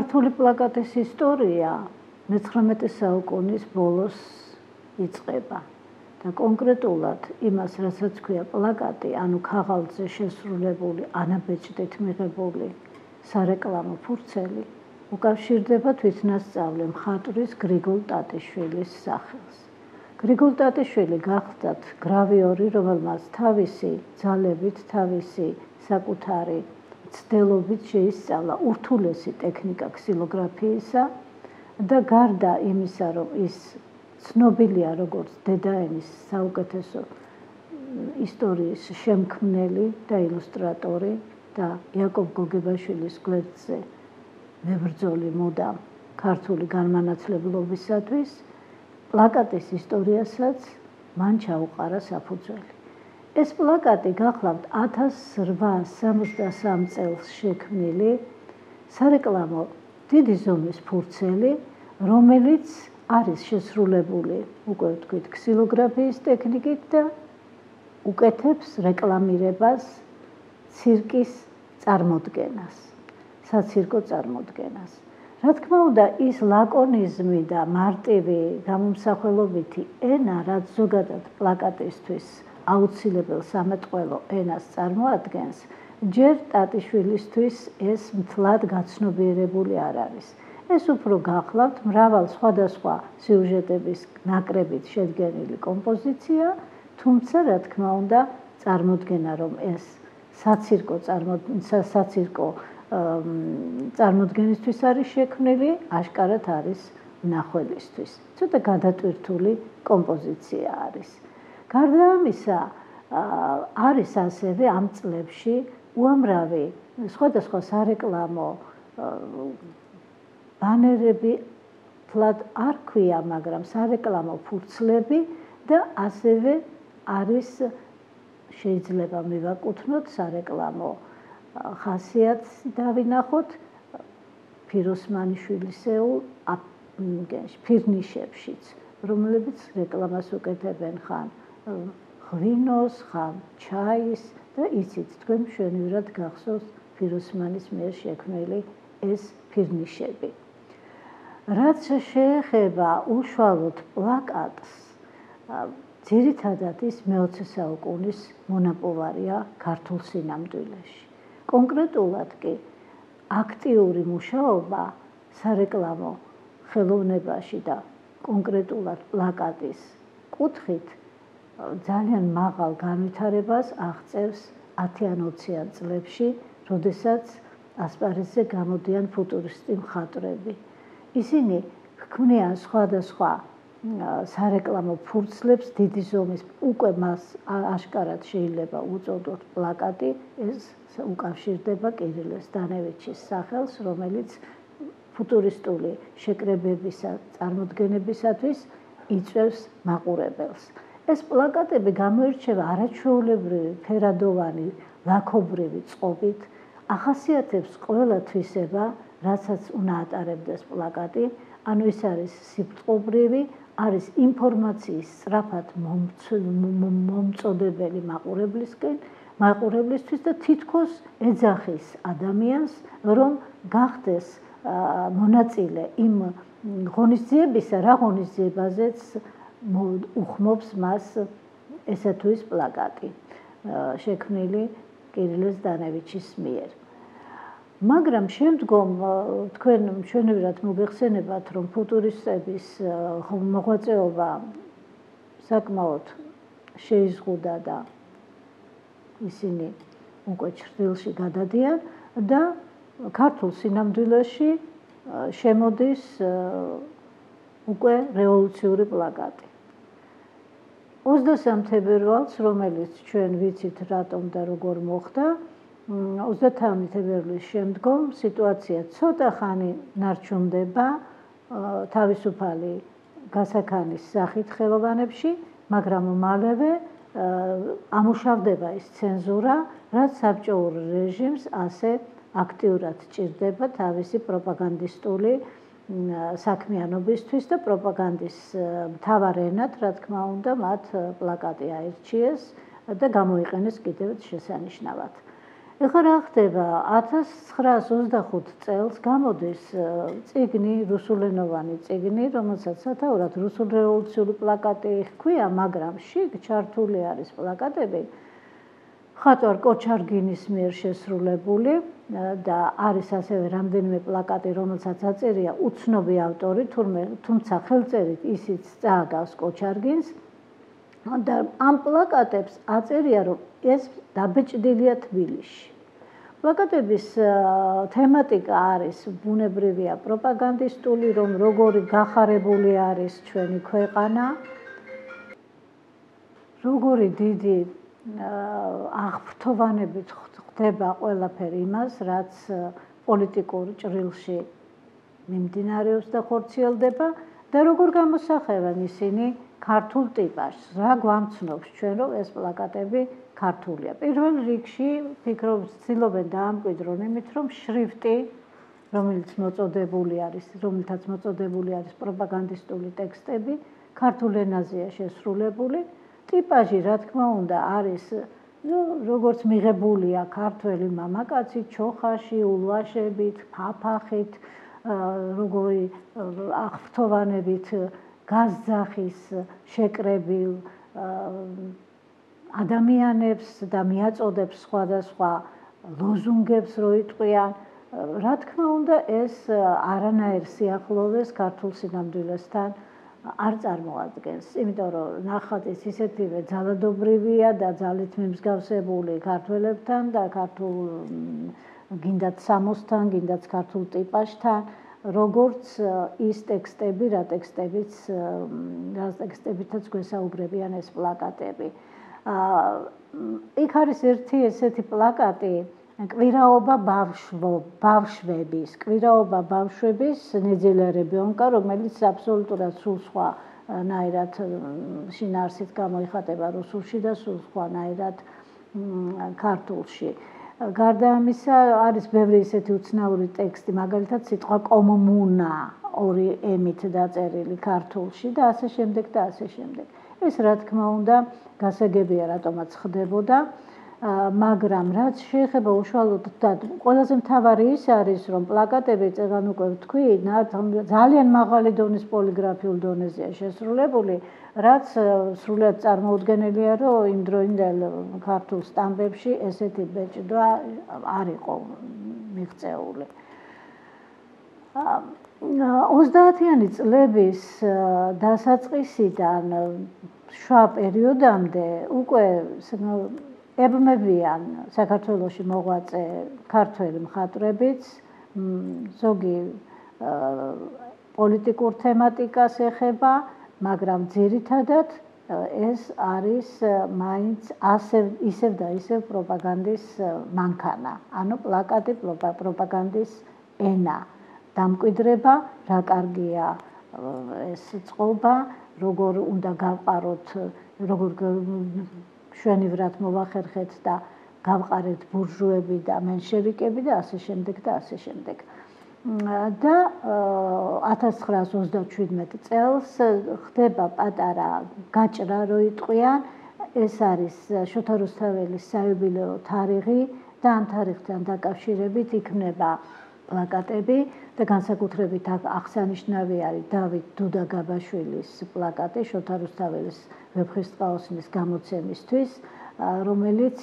ქართული პლაკატის ისტორია 19 საუკუნის ბოლოს იწყება და კონკრეტულად იმას, რასაც ქვია პლაკატი, ანუ ქაღალდზე შესრულებული ანაბეჭდით მიღებული სარეკლამო ფურცელი, უკავშირდება თვითნასწავლი მხატვრის გრიგოლ ტატიშვილის სახელს. გრიგოლ ტატიშვილი გახლდათ გრავიორი, რომელმაც თავისი ძალებით, თავისი საკუთარი ცდელობით შეისწავლა ურთულესი ტექნიკა ქსილოგრაფიისა და გარდა იმისა, რომ ის ცნობილია როგორც დედაენის საუკეთესო ისტორიის შემქმნელი და ილუსტრატორი და იაკობ გოგებაშვილის გვერდზე მებრძოლი მუდამ ქართული განმანათლებლობისათვის, პლაკატის ისტორიასაც მან ჩაუყარა საფუძველი. ეს პლაკატი გახლავთ 1863 წელს შექმნილი სარეკლამო დიდი ზომის ფურცელი, რომელიც არის შესრულებული, უკვე ვთქვით, ქსილოგრაფიის ტექნიკით და უკეთებს რეკლამირებას ცირკის წარმოდგენას, საცირკო წარმოდგენას. რა თქმა უნდა, ის ლაკონიზმი და მარტივი გამომსახველობითი ენა, რაც ზოგადად პლაკატისთვის აუცილებელ სამეტყველო ენას წარმოადგენს, ჯერ ტატიშვილისთვის ეს მთლად გაცნობიერებული არ არის. ეს უფრო გახლავთ მრავალ სხვადასხვა სიუჟეტების ნაკრებით შედგენილი კომპოზიცია, თუმცა რა თქმა უნდა, წარმოდგენა, რომ ეს საცირკო წარმოდგენისთვის არის შექმნილი, აშკარად არის მნახველისთვის. ცოტა გადატვირთული კომპოზიცია არის. გარდა ამისა, არის ასევე ამ წლებში უამრავი სხვადასხვა სარეკლამო ბანერები, თლად არ ქვია, მაგრამ სარეკლამო ფურცლები და ასევე არის შეიძლება მივაკუთვნოთ სარეკლამო ხასიათს დავინახოთ ფიროსმანიშვილისეულ ფირნიშებშიც, რომლებიც რეკლამას უკეთებენ ხან ღვინოს, ხან ჩაის და იცით, თქვენ მშვენივრად გახსოვს ფიროსმანის მიერ შექმნილი ეს ფირნიშები. რაც შეეხება უშუალოდ პლაკატს, ძირითადად ის მე-20 საუკუნის მონაპოვარია ქართულ სინამდვილეში. კონკრეტულად კი აქტიური მუშაობა სარეკლამო ხელოვნებაში და კონკრეტულად პლაკატის კუთხით ძალიან მაღალ განვითარებას აღწევს 10-20-იან წლებში, როდესაც ასპარეზზე გამოდიან ფუტურისტი მხატვრები. ისინი ჰქმნიან სხვადასხვა სარეკლამო ფურცლებს დიდი ზომის, უკვე მას აშკარად შეიძლება უწოდოთ პლაკატი, ეს უკავშირდება კირილე ზდანევიჩის სახელს, რომელიც ფუტურისტული შეკრებებისა წარმოდგენებისათვის იწვევს მაყურებელს. ეს პლაკატები გამოირჩევა არაჩვეულებრივი ფერადოვანი, ლაქობრივი წყობით, ახასიათებს ყველა თვისება, რასაც უნდა ატარებდეს პლაკატი, ანუ ის არის სიბწყობრივი, არის ინფორმაციის სწრაფად მომწოდებელი მაყურებლისთვის და თითქოს ეძახის ადამიანს, რომ გახდეს მონაწილე იმ ღონისძიებისა, რა ღონისძიებაზეც უხმობს მას ესა თუ ის პლაკატი, შექმნილი კირილე ზდანევიჩის მიერ. მაგრამ შემდგომ თქვენ მშვენივრად მოგეხსენებათ, რომ ფუტურისტების მოღვაწეობა საკმაოდ შეიზღუდა და ისინი უკვე ჩრდილში გადადიან და ქართულ სინამდვილეში შემოდის უკვე რევოლუციური პლაკატი. 23 თებერვალს, რომელიც ჩვენ ვიცით რატომ და როგორ მოხდა, 30 თებერვლის შემდგომ სიტუაცია ცოტა ხანი ნარჩუნდება თავისუფალი გასაქანის სახით ხელოვანებში, მაგრამ მალევე ამუშავდება ის ცენზურა, რაც საბჭოურ რეჟიმს ასე აქტიურად ჭირდება თავისი პროპაგანდისტული საქმიანობისთვის და პროპაგანდის მთავარ ენად, რა თქმა უნდა, მათ პლაკატი აირჩიეს და გამოიყენეს კიდევ შესანიშნავად. ეხლა რა ხდება 1925 წელს გამოდის წიგნი, რუსულენოვანი წიგნი, რომელსაც სათაურად რუსულ რევოლუციური პლაკატი ჰქვია, მაგრამ შიგ ჩართული არის პლაკატები მხატვარ კოჩარგინის მიერ შესრულებული და არის ასევე რამდენიმე პლაკატი, რომელსაც აწერია უცნობი ავტორი, თუმცა ხელწერით ისიც წააგავს კოჩარგინს და ამ პლაკატებს აწერია, რომ ეს დაბეჭდილია თბილისში. პლაკატების თემატიკა არის ბუნებრივია პროპაგანდისტული, რომ როგორი გახარებული არის ჩვენი ქვეყანა, როგორი დიდი აღფრთოვანებით ხდება ყველაფერი იმას, რაც პოლიტიკურ ჭრილში მიმდინარეობს და ხორციელდება და როგორ გამოსახებენ ისინი ქართულ ტიპაჟს. რა გვამცნობს ჩვენ, რომ ეს პლაკატები ქართულია. პირველ რიგში ფიქრობ, ცდილობენ დაამკვიდრონ იმით, რომ შრიფტი, რომელიც რომლითაც მოწოდებული არის პროპაგანდისტული ტექსტები, ქართულ ენაზეა შესრულებული. ტიპაჟი, რა თქმა უნდა, არის როგორც მიღებულია ქართველი მამაკაცი ჩოხაში, ულვაშებით, ფაფახით, როგორი აღფრთოვანებით გაზძახის შეკრებილ ადამიანებს და მიაწოდებს სხვადასხვა ლოზუნგებს რო იტყვიან. რა თქმა უნდა, ეს არანაირ სიახლოვეს ქართულ სინამდვილესთან არ წარმოადგენს, იმიტომ რომ ნახატის ისეთივე ძალადობრივია და ძალით მიმსგავსებული ქართველებთან და ქართულ გინდათ სამოსთან, გინდათ ქართულ ტიპაჟთან, როგორც ის ტექსტები, რა ტექსტებითაც გვესაუბრებიან ეს პლაკატები. იქ არის ერთი ესეთი პლაკატი, კვირაობა ბავშვების ნეძილერებიონკა, რომელიც აბსოლუტურად სულ სხვანაირად შინაარსით გამოიხატება რუსულში და სულ სხვანაირად ქართულში. გარდა ამისა, არის ბევრი ისეთი უცნაური ტექსტი, მაგალითად სიტყვა კომუნა ორი ემით დაწერილი ქართულში და ასე შემდეგ და ასე შემდეგ. ეს რა თქმა უნდა გასაგებია რატომაც ხდებოდა, მაგრამ რაც შეეხება უშუალოდ და ყველაზე მთავარი ის არის, რომ პლაკატები წეგან უკვე ვთქვი, ძალიან მაღალი დონის პოლიგრაფიულ დონეზეა შესრულებული, რაც სრულად წარმოუდგენელია, რომ იმ დროინდელ ქართულ სტამბებში ესეთი ბეჭდვა არ იყო მიღწეული. 30-იანი წლების დასაწყისიდან შუა პერიოდამდე უკვე ებმებიან საქართველოში მოღვაწე ქართველი მხატვრებიც, ზოგი პოლიტიკურ თემატიკას ეხება, მაგრამ ძირითადად ეს არის მაინც ისევ და ისევ პროპაგანდის მანქანა, ანუ პლაკატი პროპაგანდის ენა. დამკვიდრება, რა კარგია ეს წყობა, როგორ უნდა გავყაროთ, როგორ შვენივრად მოვახერხეთ და გავყარეთ ბურჟუები და მენშევიკები და ასე შემდეგ და ასე შემდეგ. და 1927 წელს ხდება პატარა გაჭრა, რო იტყვიან, ეს არის შოთა რუსთაველის საიუბილეო თარიღი და ამ თარიღთან დაკავშირებით იქნება პლაკატები და განსაკუთრებით აღსანიშნავი არის დავით დუდაგაბაშვილის პლაკატი შოთა რუსთაველის ვეფხისტყაოსნის გამოცემისთვის, რომელიც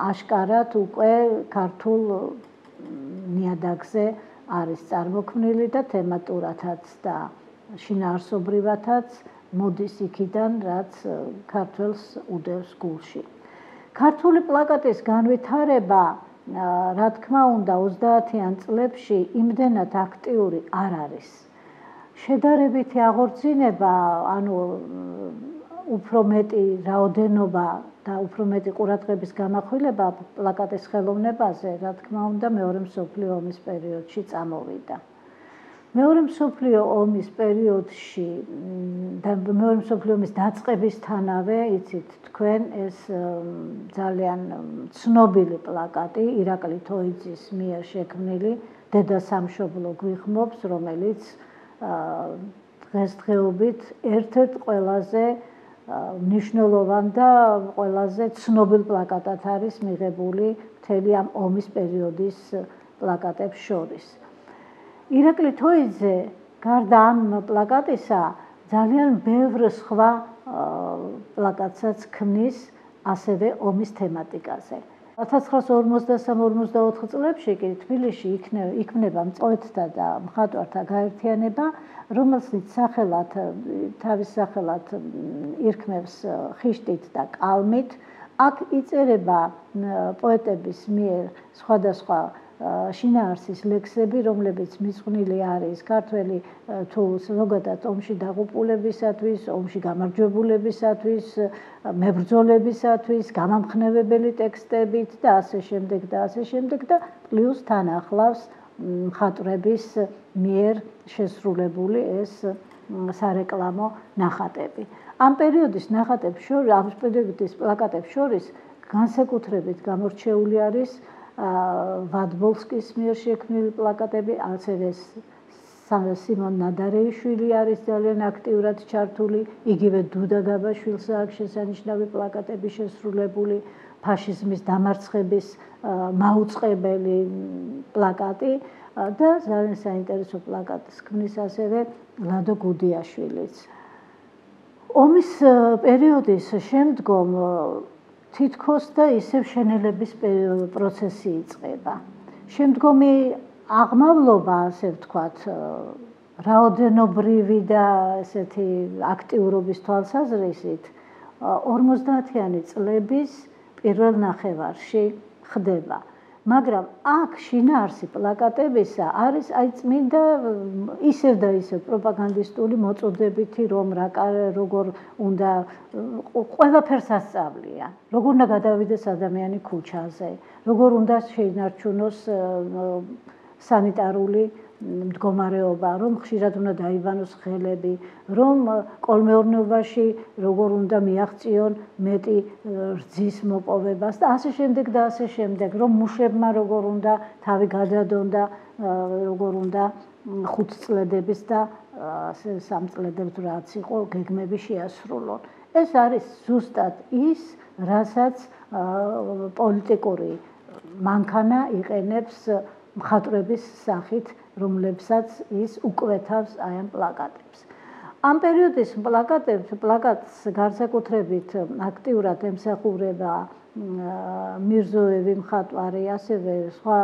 აშკარად უკვე ქართულ ნიადაგზე არის წარმოქმნილი და თემატურათაც და შინაარსობრივათაც მოდის იქიდან, რაც ქართველს უდევს გულში. ქართული პლაკატის განვითარება, რა თქმა უნდა, 30-იან წლებში იმდენად აქტიური არ არის. შედარებითი აღორძინება, ანუ უფრო მეტი რაოდენობა და უფრო მეტი ყურადღების გამახვილება პლაკატის ხელოვნებაზე, რა თქმა უნდა, მეორე მსოფლიო ომის პერიოდში წამოვიდა. მეორე მსოფლიო ომის პერიოდში და მეორე მსოფლიო ომის დაწყებისთანავე, იცით თქვენ, ეს ძალიან ცნობილი პლაკატი ირაკლი თოიძის მიერ შექმნილი დედა სამშობლო გვიხმობს, რომელიც დღესდღეობით ერთ-ერთ ყველაზე მნიშვნელოვან და ყველაზე ცნობილ პლაკატად არის მიღებული მთელი ამ ომის პერიოდის პლაკატებს შორის. ირაკლი თოიძე გარდა ამ პლაკატისა ძალიან ბევრ სხვა პლაკატსაც ქმნის ასევე ომის თემატიკაზე. 1953-54 წლებში კი თბილისში იქმნება მწვეთთა და მხატვართა გაერთიანება, რომელსაც თავის სახელად ირქმევს ხიშტით და კალმით. აქ იწერება პოეტების მიერ სხვადასხვა შინაარსის ლექსები, რომლებიც მიძღვნილი არის ქართველი თუ ზოგადად ომში დაღუპულებისათვის, ომში გამარჯვებულებისათვის, მებრძოლებისათვის, გამამხნევებელი ტექსტებით და ასე შემდეგ და ასე შემდეგ და პლუს თან ახლავს მხატვრების მიერ შესრულებული ეს სარეკლამო ნახატები. ამ პერიოდის ნახატებს შორის, ამ პერიოდის პლაკატებს შორის განსაკუთრებით გამორჩეული არის ვადბოლსკის მიერ შექმნილი პლაკატები, ასევე სიმონ ნადარეიშვილი არის ძალიან აქტიურად ჩართული, იგივე დუდა გაბაშვილს აქვს შესანიშნავი პლაკატები შესრულებული, ფაშიზმის დამარცხების მაუწყებელი პლაკატი და ძალიან საინტერესო პლაკატს ქმნის ასევე ლადო გუდიაშვილიც. ომის პერიოდის შემდგომ თითქოს და ისევ შენელების პროცესი იწყება. შემდგომი აღმავლობა, ასე ვთქვათ, რაოდენობრივი და ესეთი აქტიურობის თვალსაზრისით 50-იანი წლების პირველ ნახევარში ხდება. მაგრამ აქ შინაარსი პლაკატებისა არის წმინდა ისევ და ისევ პროპაგანდისტული მოწოდებითი, რომ როგორ უნდა ყველაფერს ასწავლიან, როგორ უნდა გადავიდეს ადამიანი ქუჩაზე, როგორ უნდა შეინარჩუნოს სანიტარული მდგომარეობა, რომ ხშირად უნდა დაიბანოს ხელები, რომ კოლმეურნეობაში როგორ უნდა მიაღწიონ მეტი რძის მოპოვებას და ასე შემდეგ და ასე შემდეგ, რომ მუშებმა როგორ უნდა თავი გადადონ და როგორ უნდა 5 წლედების და 3 წლედებს რაც იყო გეგმები შეასრულონ. ეს არის ზუსტად ის, რასაც პოლიტიკური მანქანა იყენებს მხატვრების სახით, რომლებსაც ის უკვეთავს აი ამ პლაკატებს. ამ პერიოდის პლაკატს განსაკუთრებით აქტიურად ემსახურება მირზოევი მხატვარი, ასევე სხვა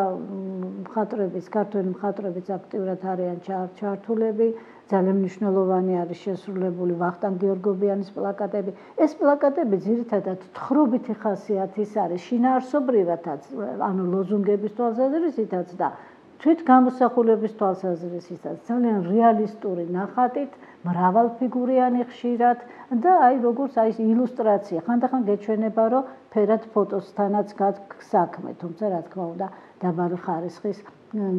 მხატვრების, ქართველი მხატვრებიც აქტიურად არიან ჩართულები. ძალიან მნიშვნელოვანი არის შესრულებული ვახტანგ გიორგობიანის პლაკატები. ეს პლაკატები ძირითადად თხრობითი ხასიათის არის, შინაარსობრივადაც, ანუ ლოზუნგების თვალსაზრისითაც და თვითგამოსახულების თვალსაზრისითაც, ძალიან რეალისტური ნახატით, მრავალფიგურიანი ხშირად და აი როგორც აი ილუსტრაცია. ხანდახან გეჩვენება, რომ ფერად ფოტოსთანაც გაქვს საქმე, თუმცა რა თქმა უნდა, დაბალი ხარისხის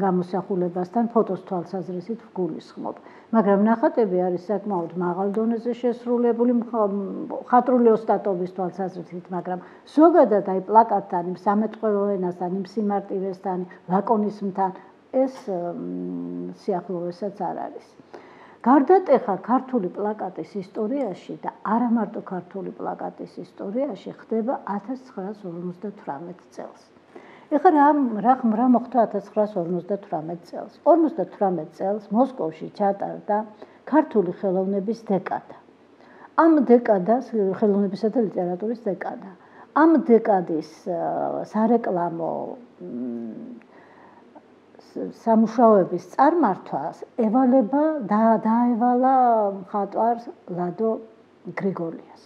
გამოსახულებასთან ფოტოს თვალსაზრისით ვგულისხმობ. მაგრამ ნახატები არის საკმაოდ მაღალ დონეზე შესრულებული მხატვრული ოსტატობის თვალსაზრისით, მაგრამ ზოგადად აი პლაკატთან, იმ სამეთყველო ენასთან, იმ სიმარტივესთან, ლაკონიზმთან ეს სიახლოვესაც არ არის. გარდატეხა ქართული პლაკატის ისტორიაში და არა მარტო ქართული პლაკატის ისტორიაში ხდება 1958 წელს. ეხლა რა მოხდა 1958 წელს? 58 წელს მოსკოვში ჩატარდა ქართული ხელოვნების დეკადა. ამ დეკადას, ხელოვნებისა და ლიტერატურის დეკადა. ამ დეკადის სარეკლამო სამუშაოების წარმართვას დაევალა მხატვარს ლადო გრიგოლიას.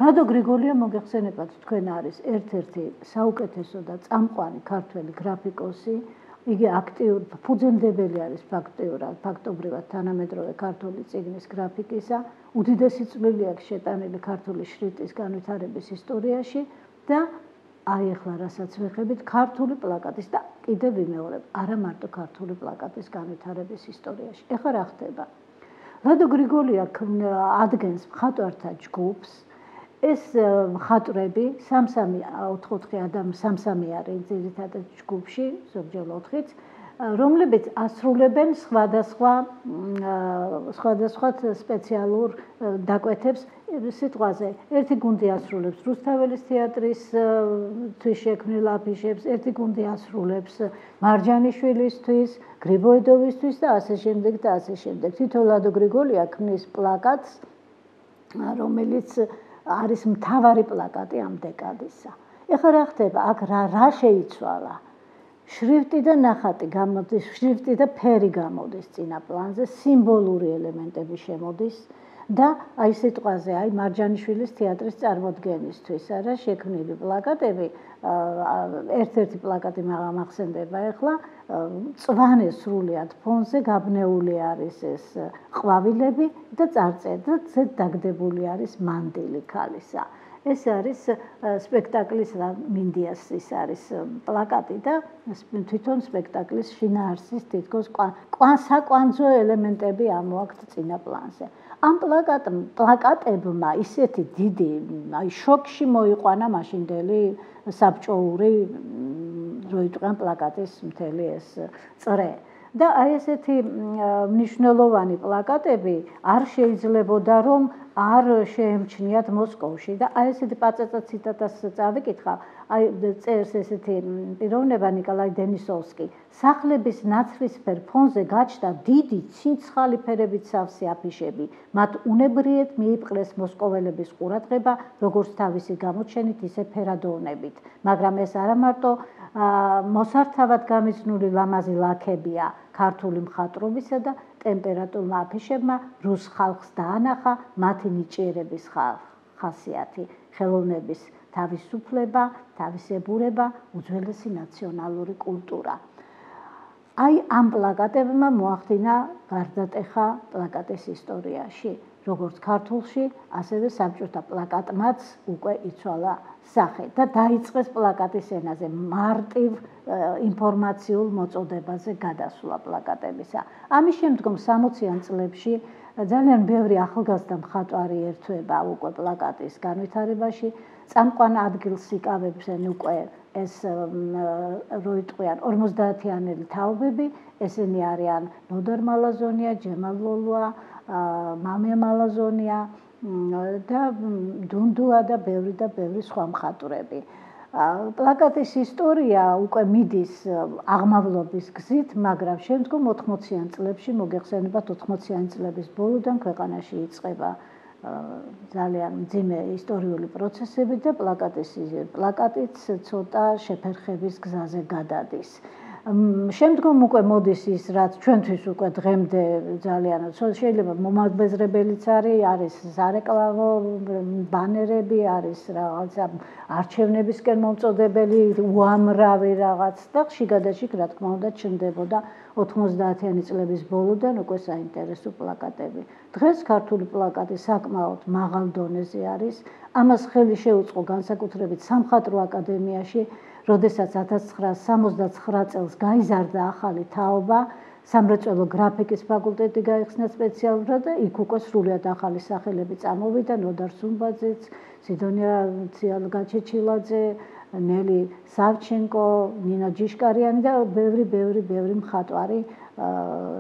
ლადო გრიგოლია მოგეხსენებათ, თქვენ არის ერთ-ერთი საუკეთესო და წამყვანი ქართველი გრაფიკოსი. იგი ფუძემდებელი არის ფაქტობრივად თანამედროვე ქართული წიგნის გრაფიკისა. უდიდესი წვლილი აქვს შეტანილი ქართული შრიფტის განვითარების ისტორიაში და აი ახლა რასაც ვეხებით ქართული პლაკატის და კიდევ ვიმეორებ, არა მარტო ქართული პლაკატის განვითარების ისტორიაში. ეხლა რა ხდება? ლადო გრიგოლია ადგენს მხატვართა ჯგუფს. ეს მხატვრები 3-4 ადამიანი 3 არის ძირითადად ჯგუფში, ზოგჯერ 4-იც, რომლებიც ასრულებენ სხვადასხვა სპეციალურ დაკვეთებს სიტყვაზე. ერთი გუნდი ასრულებს რუსთაველის თეატრის შექმნილ აფიშებს, ერთი გუნდი ასრულებს მარჯანიშვილისთვის, გრიბოედოვისთვის და ასე შემდეგ და ასე შემდეგ. თვითონ ლადო გრიგოლია ქმნის პლაკატს, რომელიც არის მთავარი პლაკატი ამ დეკადისა. ეხლა რა ხდება? აქ რა შეიცვალა? შრიფტი და ნახატი გამოდის, შრიფტი და ფერი გამოდის წინა პლანზე, სიმბოლური ელემენტები შემოდის და აი სიტყვაზე, აი მარჯანიშვილის თეატრის წარმოდგენისთვის არა შექმნილი პლაკატები, ერთ-ერთი პლაკატი მახსენდება ეხლა, მწვანე სრულიად ფონზე გაბნეული არის ეს ყვავილები და წარწერა დაგდებული არის მანდილი ქალისა. ეს არის სპექტაკლის მინდიას ის არის პლაკატი და თვითონ სპექტაკლის შინაარსის თითქოს საკვანძო ელემენტები ამოაქვთ წინა პლანზე. ამ პლაკატებმა ისეთი დიდი აი შოკში მოიყვანა მაშინდელი საბჭოური რო იტყვიან პლაკატის მთელი ეს წრე. და აი ესეთი მნიშვნელოვანი პლაკატები არ შეიძლებოდა რომ არ შეემჩნიათ მოსკოვში და აი ესეთი პაწაწა ციტატას წავიკითხა, აი წერს ესეთი პიროვნება ნიკოლაი დენისოვსკი. სახლების ნაცრისფერ ფონზე გაჩნდა დიდი ცინცხალი ფერებით სავსე აფიშები. მათ უნებრიეთ მიიპყრეს მოსკოველების ყურადღება, როგორც თავისი გამოჩენით, ისე ფერადოვნებით. მაგრამ ეს არა მარტო მოსართავად გამიზნული ლამაზი ლაქებია, ქართული მხატვრობისა და ტემპერატურულ აფიშებმა რუს ხალხს დაანახა მათი ნიჭიერების ხასიათი, ხელოვნების თავისუფლება, თავისებურება, უძველესი ნაციონალური კულტურა. აი ამ პლაკატებმა მოახდინა გარდატეხა პლაკატის ისტორიაში, როგორც ქართულში, ასევე საბჭოთა პლაკატმაც უკვე იცვალა სახე და დაიწყეს პლაკატის ენაზე მარტივ ინფორმაციულ მოწოდებაზე გადასვლა პლაკატებისა. ამის შემდგომ 60-იან წლებში ძალიან ბევრი ახალგაზრდა მხატვარი ერთვება უკვე პლაკატის განვითარებაში, წამყვან ადგილს იკავებენ უკვე ეს რო იტყვიან 50-იანელი თაობები, ესენი არიან ნოდარ მალაზონია, ჯემალ ლოლუა, მამია მალაზონია და დუნდუა და ბევრი სხვა მხატვრები. პლაკატის ისტორია უკვე მიდის აღმავლობის გზით, მაგრამ შემდგომ 80-იან წლებში მოგეხსენებათ 80-იანი წლების ბოლოდან ქვეყანაში იწყება ძალიან მძიმე ისტორიული პროცესები და პლაკატიც ცოტა შეფერხების გზაზე გადადის. შემდგომ უკვე მოდის ის, რაც ჩვენთვის უკვე დღემდე ძალიან შეიძლება მომაბეზრებელიც არის სარეკლამო ბანერები, არის რაღაცა არჩევნებისკენ მომწოდებელი უამრავი რაღაც და შიგადაშიგ რა თქმა უნდა ჩნდებოდა 90-იანი წლების ბოლოდან უკვე საინტერესო პლაკატები. დღეს ქართული პლაკატი საკმაოდ მაღალ დონეზე არის. ამას ხელი შეუწყო განსაკუთრებით სამხატვრო აკადემიაში, როდესაც 1969 წელს გაიზარდა ახალი თაობა, სამრეწველო გრაფიკის ფაკულტეტი გაიხსნა სპეციალურად და იქ უკვე სრულიად ახალი სახელები წამოვიდა, ნოდარ სუმბაძეც, სიდონია ციალგაჩეჩილაძე, ნელი სავჩენკო, ნინა ჯიშკარიანი და ბევრი მხატვარი,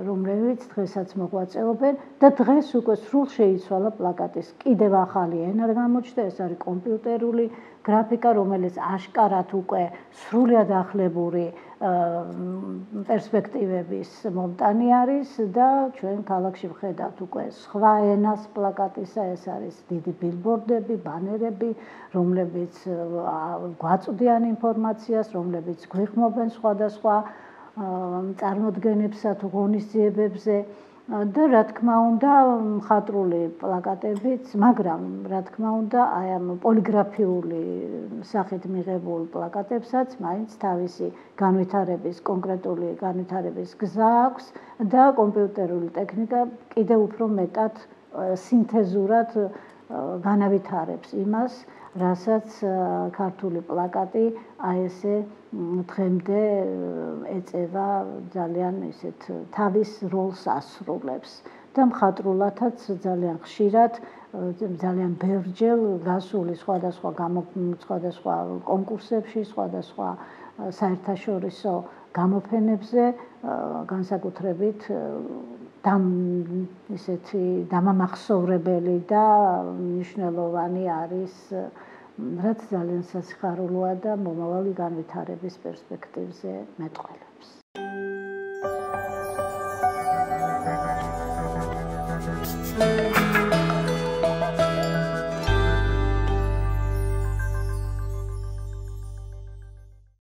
რომლებიც დღესაც მოღვაწეობენ და დღეს უკვე სრულ შეიცვალა პლაკატის კიდევ ახალი ენა გამოჩნდა, ეს არის კომპიუტერული გრაფიკა, რომელიც აშკარად უკვე სრულიად ახლებური პერსპექტივების მომტანი არის და ჩვენ ქალაქში ვხედავთ უკვე სხვა ენას პლაკატისა, ეს არის დიდი ბილბორდები, ბანერები, რომლებიც გვაწვდიან ინფორმაციას, რომლებიც გვიხმობენ სხვადასხვა წარმოდგენებსა თუ ღონისძიებებზე და რა თქმა უნდა მხატვრული პლაკატებიც, მაგრამ რა თქმა უნდა აი ამ პოლიგრაფიული სახით მიღებულ პლაკატებსაც მაინც თავისი კონკრეტული განვითარების გზა აქვს და კომპიუტერული ტექნიკა კიდევ უფრო მეტად სინთეზურად განავითარებს იმას, რასაც ქართული პლაკატი აი ესე დღემდე ეწევა ძალიან ისეთ თავის როლს ასრულებს და მხატვრულადაც ძალიან ხშირად, ძალიან ბევრჯერ გასული სხვადასხვა კონკურსებში, სხვადასხვა საერთაშორისო გამოფენებზე, განსაკუთრებით ისეთი დამამახსოვრებელი და მნიშვნელოვანი არის, რაც ძალიან სასიხარულოა და მომავალი განვითარების პერსპექტივზე მეტყველებს.